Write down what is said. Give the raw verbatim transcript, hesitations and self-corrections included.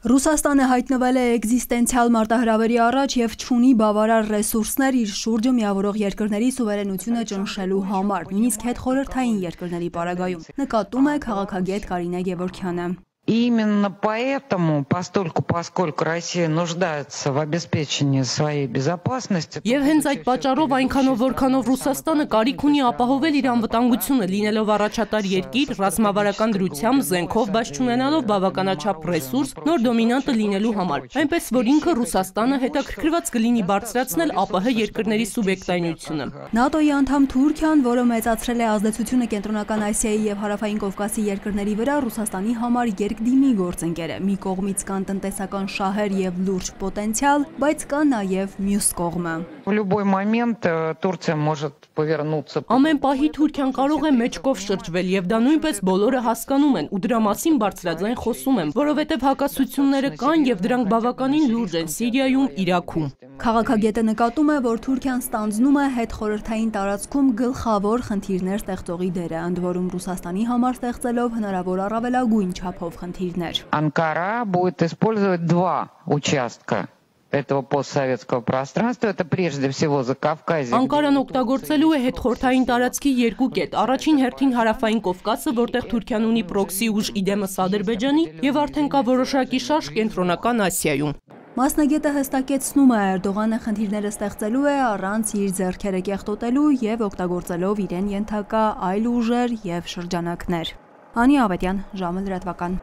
Ռուսաստանը հայտնվել է էկզիստենցիալ մարտահրավերի առաջ և չունի բավարար ռեսուրսներ իր շուրջը միավորող երկրների սուվերենությունը ճնշելու համար, նույնիսկ հետխորհրդային երկրների պարագայում, նկատում է քաղաքագետ Կարինե Գևորգյանը։ Именно поэтому, постольку, поскольку Россия нуждается в обеспечении своей безопасности. Եվ հենց այդ պատճառով այնքանով որքանով Ռուսաստանը կարիք ունի ապահովել իր անվտանգությունը, լինելով առաջատար երկիր, ռազմավարական դրությամբ, զենքով, բայց չունենալով բավականաչափ ռեսուրս, նոր դոմինանտը լինելու համար։ Այնպես որ ինքը Ռուսաստանը հետաքրքրված կլինի բարձրացնել ԱՊՀ երկրների սուբյեկտայնությունը։ ՆԱՏՕ-ի անդամ Թուրքիան, որը մեծացրել է ազդեցությունը Կենտրոնական Ասիայի և Հարավային Կովկասի երկրների վրա, Ռուսաստանի համար երկդիմի գործընկեր է։ Մի կողմից կան տնտեսական շահեր և լուրջ պոտենցիալ, բայց կա նաև մյուս կողմը։ В любой момент Турция может повернуться. Ամեն պահի Թուրքիան կարող է մեջքով շրջվել և դա նույնպես բոլորը հասկանում են ու դրա մասին բարձրաձայն խոսում են, որովհետև հակասությունները կան և դրանք բավականին լուրջ են Սիրիայում, Իրաքում։ Քաղաքագետը նկատում է, որ Թուրքիան ստանձնում է հետխորհրդային տարածքում գլխավոր խնդիրներ ստեղծողի դերը, ընդ որում Ռուսաստանի համար ստեղծելով հնարավոր առավելագույն չափով խնդիրներ։ Анкара будет использовать два участка этого постсоветского пространства, это прежде всего Закавказье. Անկարան օգտագործելու է հետխորհրդային տարածքի երկու կետ։ Առաջին հերթին Հարավային Կովկասը, որտեղ Թուրքիան ունի պրոքսի ուժ իդեմս Ադրբեջանի, եւ արդեն կա որոշակի շարժ Կենտրոնական Ասիայում։ Մասնագետը հստակեցնում է, Էրդողանը խնդիրները ստեղծելու է առանց իր ձեռքերը կեղտոտելու եւ օգտագործելով իրեն ենթակա այլ ուժեր եւ շրջանակներ։ Անի Ավետյան, ժամը լրատվական։